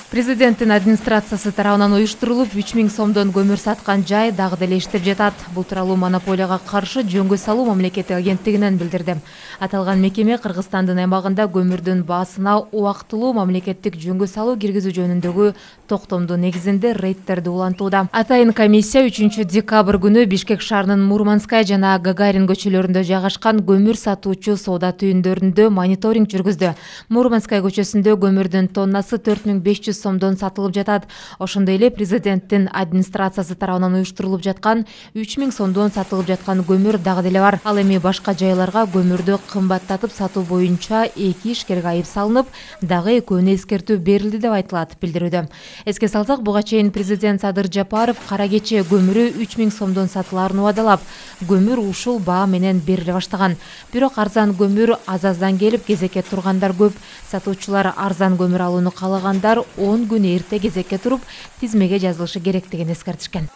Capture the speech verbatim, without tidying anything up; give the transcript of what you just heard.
Президенттин администрациясы тарабынан уюштурулуп үч миң сомдон көмүр саткан жай дагы деле иштеп жатат. Бул тууралуу монополияга каршы жөнгө салуу мамлекеттик агенттигинен билдирди. Аталган мекеме Кыргызстандын аймагында көмүрдүн баасына убактылуу мамлекеттик жөнгө салуу киргизүү жөнүндөгү токтомдун негизинде рейдтерди улантууда. Атайын комиссия үчүнчү декабрь күнү Бишкек шаарынын Мурманская жана Гагарин көчөлөрүндө жайгашкан көмүр сатуучу соода түйүндөрүндө мониторинг жүргүздү. Мурманская көчөсүндө көмүрдүн тоннасы төрт миң беш жүз сомдон сатылып жатат. Ошондой эле президенттин администрациясы тарабынан уюштурулуп жаткан үч миң сомдон сатылып жаткан көмүр дагы деле бар. Ал эми башка жайларга көмүрдү кымбаттатып сатуу боюнча эки ишкерге айып салынып, дагы экөөнү эскертүү берилди деп айтылат билдирүүдө. Эске салсак, буга чейин президент Садыр Жапаров кара кече көмүрү үч миң сомдон сатылаарын убадалап, көмүр ушул баа менен бериле баштаган. Бирок арзан көмүр аз-аздан келип, кезекке тургандар көп. Сатуучулар арзан көмүр алууну каалагандар он күн эрте кезекке туруп, тизмеге жазылышы керектигин эскертишкен.